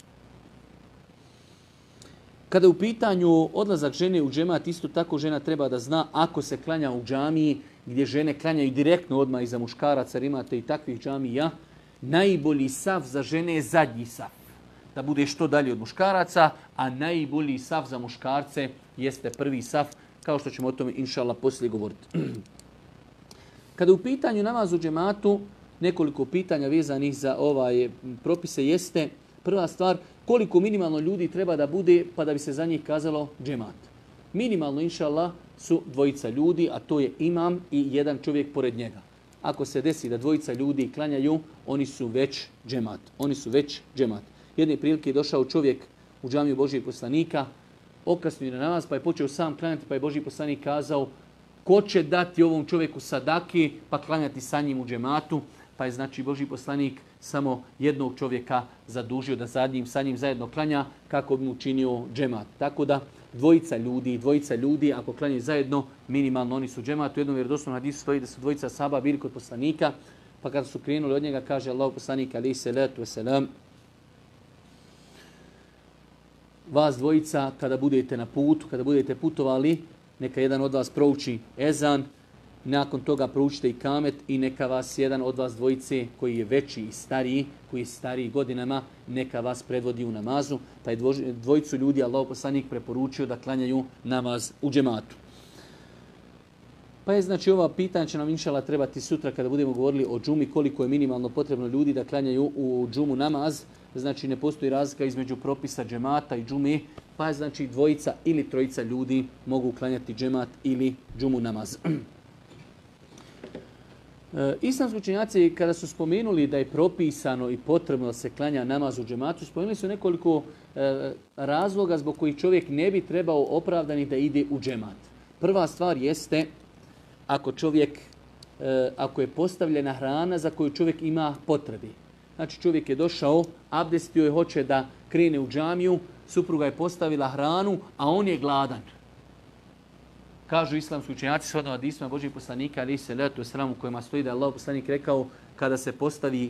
Kada je u pitanju odlazak žene u džemat, isto tako žena treba da zna ako se klanja u džamiji gdje žene klanjaju direktno odmah iza muškaraca, jer imate i takvih džamija, najbolji saf za žene je zadnji saf. Da bude što dalje od muškaraca, a najbolji saf za muškarce jeste prvi saf, kao što ćemo o tome inšallah poslije govoriti. Kada u pitanju namaz u džematu, nekoliko pitanja vezanih za ovaj propise jeste, prva stvar, koliko minimalno ljudi treba da bude pa da bi se za njih kazalo džemat. Minimalno, inšallah, su dvojica ljudi, a to je imam i jedan čovjek pored njega. Ako se desi da dvojica ljudi klanjaju, oni su već džemat. Oni su već džemat. Jedne prilike je došao čovjek u džamiju Božijeg poslanika, okasnio na namaz, pa je počeo sam klanjati, pa je Božji poslanik kazao ko će dati ovom čovjeku sadaki, pa klanjati sa njim u džematu. Pa je znači Božji poslanik samo jednog čovjeka zadužio da sa njim, sa njim zajedno klanja kako bi mu činio džemat. Tako da dvojica ljudi, dvojica ljudi ako klanjaju zajedno, minimalno oni su džemat. U jednom vjerodostojnom hadisu stoji da su dvojica sahaba bili kod poslanika, pa kada su krenuli od njega kaže Allahu poslanik alejhi selatu vesselam: vas dvojica kada budete na putu, kada budete putovali, neka jedan od vas prouči ezan, nakon toga proučite i kamet i neka vas jedan od vas dvojice koji je veći i stariji, koji je stariji godinama, neka vas predvodi u namazu. Pa je dvojicu ljudi Allahov poslanik preporučio da klanjaju namaz u džematu. Pa je znači ova pitanja će nam inšallah trebati sutra kada budemo govorili o džumi, koliko je minimalno potrebno ljudi da klanjaju u džumu namaz. Znači ne postoji razlika između propisa džemata i džume, pa je znači dvojica ili trojica ljudi mogu klanjati džemat ili džumu namaz. E, islamski učenjaci kada su spomenuli da je propisano i potrebno da se klanja namaz u džematu, spomenuli su nekoliko e, razloga zbog kojih čovjek ne bi trebao opravdani da ide u džemat. Prva stvar jeste ako čovjek, e, ako je postavljena hrana za koju čovjek ima potrebe. Znači čovjek je došao, abdestio je, hoće da krene u džamiju, supruga je postavila hranu, a on je gladan. Kažu islamski učenjaci shodno hadisima Božjeg poslanika alejhi selatu vesselam u kojima stoji da je Allahov poslanik rekao kada se postavi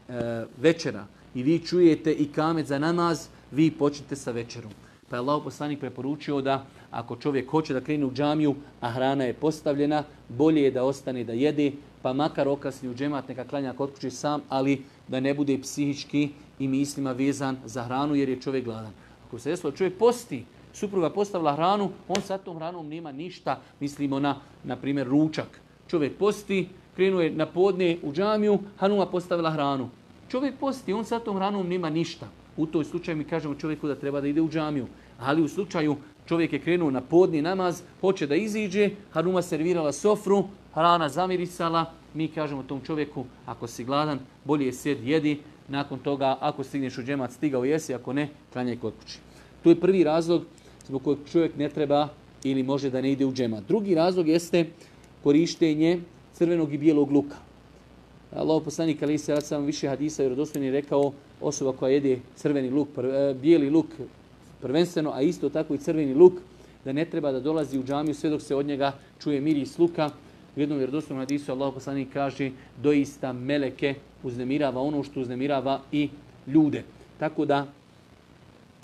e, večera i vi čujete i kamet za namaz, vi počnite sa večerom. Pa je Allahov poslanik preporučio da ako čovjek hoće da krene u džamiju, a hrana je postavljena, bolje je da ostane da jede, pa makar okasni u džemat, neka klanja kod kuće sam, ali da ne bude psihički i mislima vezan za hranu jer je čovjek gladan. Ako se desilo čovjek posti, supruga postavila hranu, on sa tom hranom nema ništa, mislimo na, na primjer, ručak. Čovjek posti, krenuo je na podne u džamiju, hanuma postavila hranu. Čovjek posti, on sa tom hranom nema ništa. U toj slučaju mi kažemo čovjeku da treba da ide u džamiju. Ali u slučaju čovjek je krenuo na podni namaz, hoće da iziđe, hanuma servirala sofru, hrana zamirisala, mi kažemo tom čovjeku, ako si gladan, bolje je sjed, jedi, nakon toga, ako stigneš u džemat, stigao jesi, ako ne, klanjaj kod kući. To je prvi razlog zbog kojeg čovjek ne treba ili može da ne ide u džemat. Drugi razlog jeste korištenje crvenog i bijelog luka. Allahov poslanik alejhi selatu vesselam više hadisa vjerodostojnih rekao osoba koja jede crveni luk, bijeli luk prvenstveno, a isto tako i crveni luk, da ne treba da dolazi u džamiju sve dok se od njega čuje miris luka. U jednom vjerodostojnom hadisu Allahov poslanik kaže doista meleke uznemirava ono što uznemirava i ljude. Tako da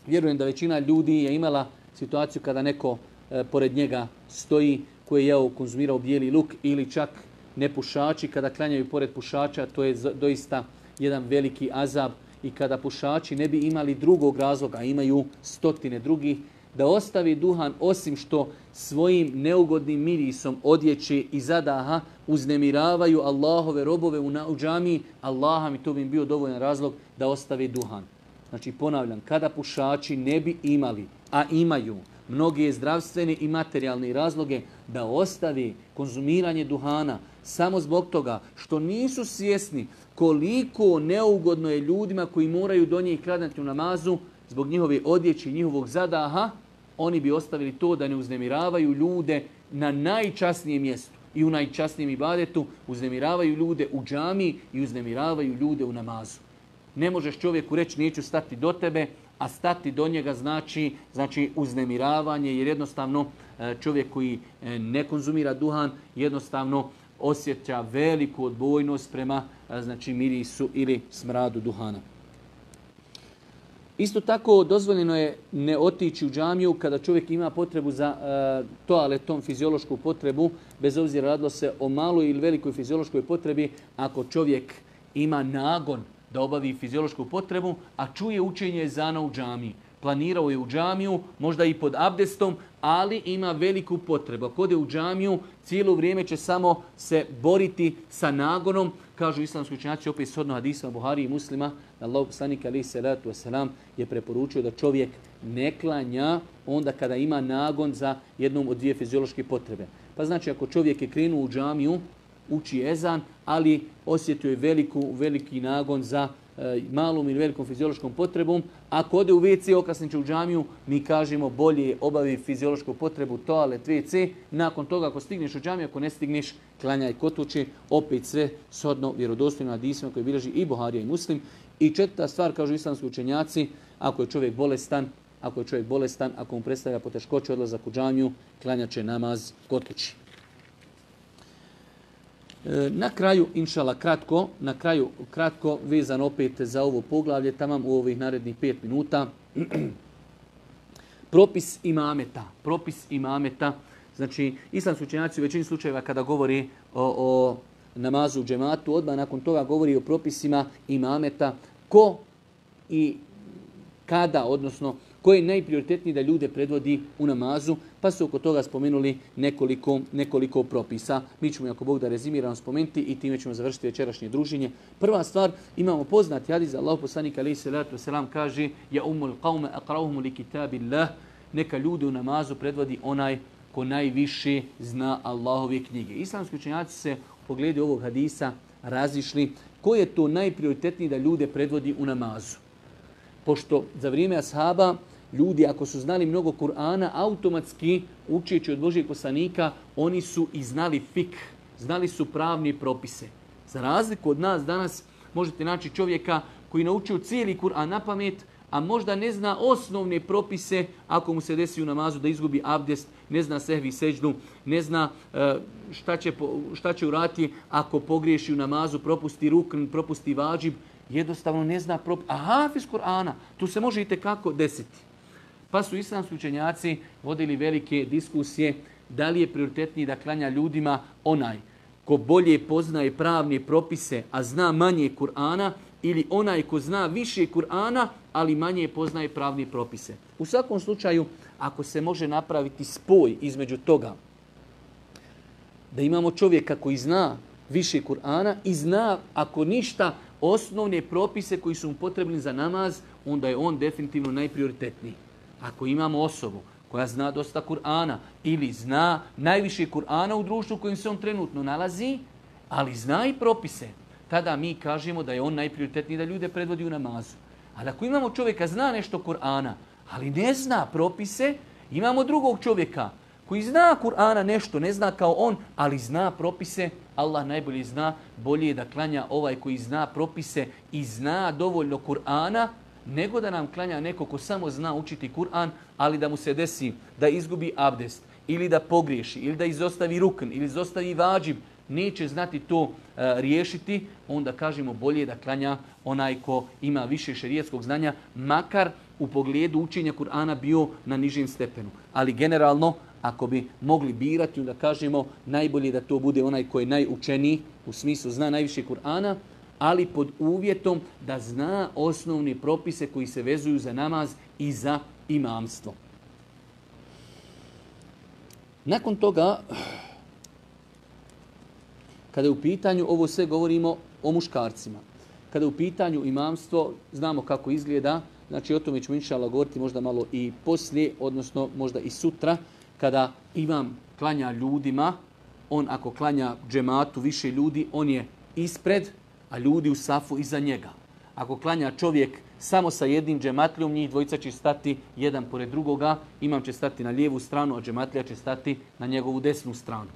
vjerujem da većina ljudi je imala situaciju kada neko e, pored njega stoji koji je jeo, konzumirao bijeli luk ili čak nepušači kada klanjaju pored pušača, to je doista jedan veliki azab i kada pušači ne bi imali drugog razloga, imaju stotine drugih, da ostavi duhan osim što svojim neugodnim mirisom odjeći i zadaha uznemiravaju Allahove robove u, u džamiji, Allaha mi to bi im bio dovoljan razlog da ostavi duhan. Znači ponavljam, kada pušači ne bi imali, a imaju mnoge zdravstvene i materijalne razloge da ostavi konzumiranje duhana samo zbog toga što nisu svjesni koliko neugodno je ljudima koji moraju do njih klanjati u namazu zbog njihove odjeće i njihovog zadaha, oni bi ostavili to da ne uznemiravaju ljude na najčasnijem mjestu i u najčasnijem ibadetu, uznemiravaju ljude u džamiji i uznemiravaju ljude u namazu. Ne možeš čovjeku reći neću stati do tebe, a stati do njega znači, znači uznemiravanje, jer jednostavno čovjek koji ne konzumira duhan jednostavno osjeća veliku odbojnost prema znači mirisu ili smradu duhana. Isto tako dozvoljeno je ne otići u džamiju kada čovjek ima potrebu za uh, toaletom, fiziološku potrebu, bez obzira radilo se o maloj ili velikoj fiziološkoj potrebi, ako čovjek ima nagon da obavi fiziološku potrebu, a čuje učenje ezana u džamiji. Planirao je u džamiju, možda i pod abdestom, ali ima veliku potrebu. Ako ode u džamiju, cijelo vrijeme će samo se boriti sa nagonom. Kažu islamski učenjaci, opet shodno hadisa Buhari i Muslima, da Allahov poslanik alejhi selatu vesselam je preporučio da čovjek ne klanja onda kada ima nagon za jednom od dvije fiziološke potrebe. Pa znači ako čovjek je krenuo u džamiju, uči ezan, ali osjetio je veliku, veliki nagon za e, malom ili velikom fiziološkom potrebom. Ako ode u ve ce, okasnit će u džamiju, mi kažemo bolje obavi fiziološku potrebu, toalet, ve ce. Nakon toga ako stigneš u džamiju, ako ne stigneš, klanjaj kod kuće. Opet sve shodno vjerodostojnim hadisima koje bilježi i Buharija i Muslim. I četvrta stvar, kažu islamski učenjaci, ako je čovjek bolestan, ako je čovjek bolestan, ako mu predstavlja poteškoće odlazak u džamiju, klanjat će namaz kod kuće. Na kraju, inšala, kratko, na kraju, kratko, vezan opet za ovo poglavlje, tamam u ovih narednih pet minuta. Propis imameta. Propis imameta. Znači, islamski učenjaci u većini slučajeva kada govori o, o namazu u džematu, odmah nakon toga govori o propisima imameta. Ko i kada, odnosno, ko je najprioritetniji da ljude predvodi u namazu, pa su oko toga spomenuli nekoliko, nekoliko propisa. Mi ćemo, ako Bog da, rezimiramo spomenuti i time ćemo završiti večerašnje druženje. Prva stvar, imamo poznati hadis, Allahov poslanik alejhi selatu vesselam kaže: "Ja umul qaume aqra'uhum li kitabillah", neka ljude u namazu predvodi onaj ko najviše zna Allahove knjige. Islamski učenjaci se u pogledu ovog hadisa razišli ko je to najprioritetniji da ljude predvodi u namazu. Pošto za vrijeme ashaba ljudi ako su znali mnogo Kur'ana, automatski učeći od Božijeg poslanika, oni su i znali fik, znali su pravni propise. Za razliku od nas danas možete naći čovjeka koji naučio cijeli Kur'an na pamet, a možda ne zna osnovne propise ako mu se desi u namazu da izgubi abdest, ne zna sehvi seždu, ne zna šta će, šta će uraditi ako pogriješi u namazu, propusti rukn, propusti vađib, jednostavno ne zna propis. A hafiz Kur'ana, tu se može i tekako desiti. Pa su islamski učenjaci vodili velike diskusije da li je prioritetniji da klanja ljudima onaj ko bolje poznaje pravne propise, a zna manje Kur'ana, ili onaj ko zna više Kur'ana, ali manje poznaje pravne propise. U svakom slučaju, ako se može napraviti spoj između toga da imamo čovjeka koji zna više Kur'ana i zna, ako ništa, osnovne propise koji su mu potrebni za namaz, onda je on definitivno najprioritetniji. Ako imamo osobu koja zna dosta Kur'ana ili zna najviše Kur'ana u društvu u kojem se on trenutno nalazi, ali zna i propise, tada mi kažemo da je on najprioritetniji da ljude predvodi u namazu. Ali ako imamo čovjeka zna nešto Kur'ana, ali ne zna propise, imamo drugog čovjeka koji zna Kur'ana nešto, ne zna kao on, ali zna propise, Allah najbolje zna, bolje je da klanja ovaj koji zna propise i zna dovoljno Kur'ana, nego da nam klanja neko ko samo zna učiti Kur'an, ali da mu se desi da izgubi abdest, ili da pogriješi, ili da izostavi rukn, ili izostavi vađib, neće znati to uh, riješiti, onda kažemo bolje da klanja onaj ko ima više šerijetskog znanja, makar u pogledu učenja Kur'ana bio na nižim stepenu. Ali generalno, ako bi mogli birati, onda kažemo najbolje da to bude onaj koji je najučeniji, u smislu zna najviše Kur'ana, ali pod uvjetom da zna osnovne propise koji se vezuju za namaz i za imamstvo. Nakon toga, kada je u pitanju, ovo sve govorimo o muškarcima, kada je u pitanju imamstvo, znamo kako izgleda, znači o tome ćemo inšallah govoriti možda malo i poslije, odnosno možda i sutra, kada imam klanja ljudima, on ako klanja džematu više ljudi, on je ispred, a ljudi u safu iza njega. Ako klanja čovjek samo sa jednim džematlijom, njih dvojica će stati jedan pored drugoga, imam će stati na lijevu stranu, a džematlija će stati na njegovu desnu stranu.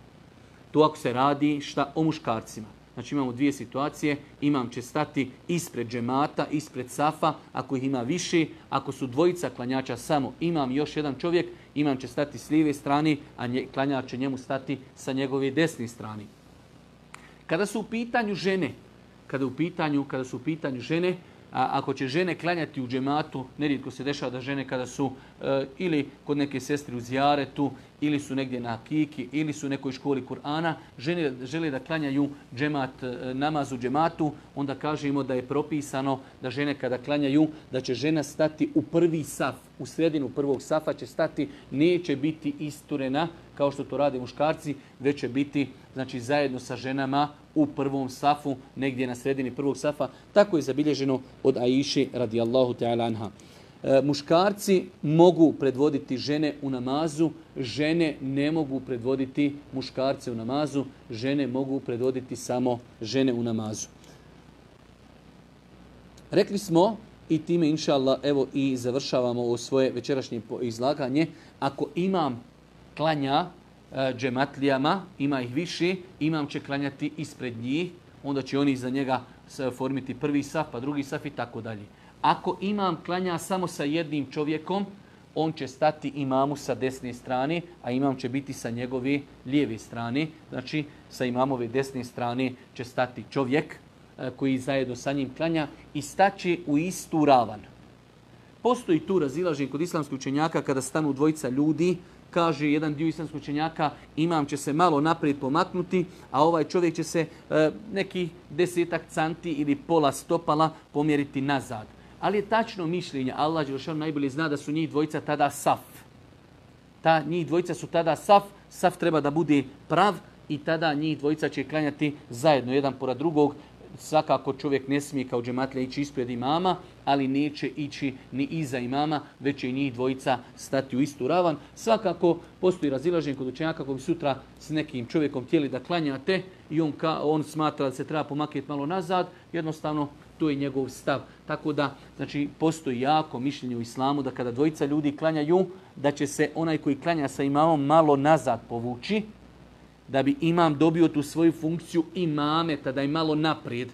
To ako se radi šta o muškarcima. Znači imamo dvije situacije, imam će stati ispred džemata, ispred safa, ako ih ima više, ako su dvojica klanjača samo, imam još jedan čovjek, imam će stati s lijeve strane, a nje, klanjač će njemu stati sa njegove desne strane. Kada su u pitanju žene, kada, u pitanju, kada su u pitanju žene, A ako će žene klanjati u džematu, nerijetko se dešava da žene kada su e, ili kod neke sestre u zijaretu, ili su negdje na hakiki, ili su u nekoj školi Kur'ana, žene žele da klanjaju džemat, e, namaz u džematu, onda kažemo da je propisano da žene kada klanjaju, da će žena stati u prvi saf, u sredinu prvog safa će stati, neće biti isturena kao što to rade muškarci, već će biti znači, zajedno sa ženama u prvom safu, negdje na sredini prvog safa. Tako je zabilježeno od Aiše radijallahu ta'ala anha. E, muškarci mogu predvoditi žene u namazu, žene ne mogu predvoditi muškarce u namazu, žene mogu predvoditi samo žene u namazu. Rekli smo, i time inša Allah, evo i završavamo ovo svoje večerašnje izlaganje, ako imam klanja e, džematlijama, ima ih više, imam će klanjati ispred njih, onda će oni za njega formiti prvi saf, pa drugi saf i tako dalje. Ako imam klanja samo sa jednim čovjekom, on će stati imamu sa desne strane, a imam će biti sa njegove lijeve strane. Znači, sa imamove desne strane će stati čovjek e, koji zajedno sa njim klanja i staće u istu ravan. Postoji tu razilaženje kod islamskih učenjaka kada stanu dvojica ljudi, kaže jedan dio islamskih učenjaka, imam će se malo naprijed pomaknuti, a ovaj čovjek će se e, neki desetak canti ili pola stopala pomjeriti nazad. Ali je tačno mišljenje, Allah dželešanu najbolje zna da su njih dvojica tada saf. Ta njih dvojica su tada saf, saf treba da bude prav i tada njih dvojica će klanjati zajedno, jedan pored drugog. Svakako čovjek ne smije kao džematlija ići ispred imama, ali neće ići ni iza imama, već će i njih dvojica stati u istu ravan. Svakako postoji razilaženje kod učenjaka koji sutra s nekim čovjekom htjeli da klanjate i on, ka, on smatra da se treba pomaknuti malo nazad, jednostavno to je njegov stav. Tako da, znači, postoji jako mišljenje u islamu da kada dvojica ljudi klanjaju, da će se onaj koji klanja sa imamom malo nazad povući, da bi imam dobio tu svoju funkciju imameta, da je malo naprijed.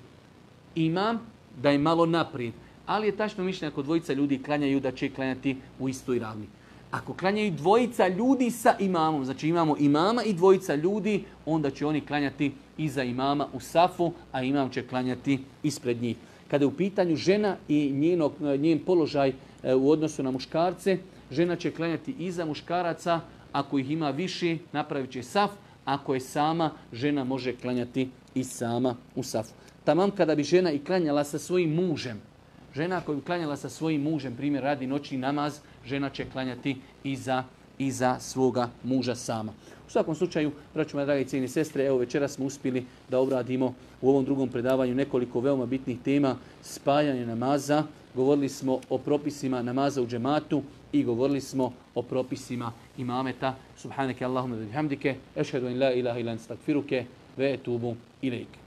Imam, da je malo naprijed. Ali je tačno mišljenje ako dvojica ljudi klanjaju da će klanjati u istoj ravni. Ako klanjaju dvojica ljudi sa imamom, znači imamo imama i dvojica ljudi, onda će oni klanjati iza imama u safu, a imam će klanjati ispred njih. Kada je u pitanju žena i njenog, njen položaj u odnosu na muškarce, žena će klanjati iza muškaraca, ako ih ima više, napravit će saf, ako je sama, žena može klanjati i sama u safu. Tamam kada bi žena i klanjala sa svojim mužem, žena koja bi klanjala sa svojim mužem, primjer radi noćni namaz, žena će klanjati iza, iza svoga muža sama. U svakom slučaju, braćo moje drage i cijene sestre, evo večeras smo uspjeli da obradimo u ovom drugom predavanju nekoliko veoma bitnih tema, spajanje namaza, govorili smo o propisima namaza u džematu i govorili smo o propisima imameta. Subhaneke Allahumma wa bihamdike, ešhedu in la ilaha illa anta, astakfiruke ve etubu ilejke.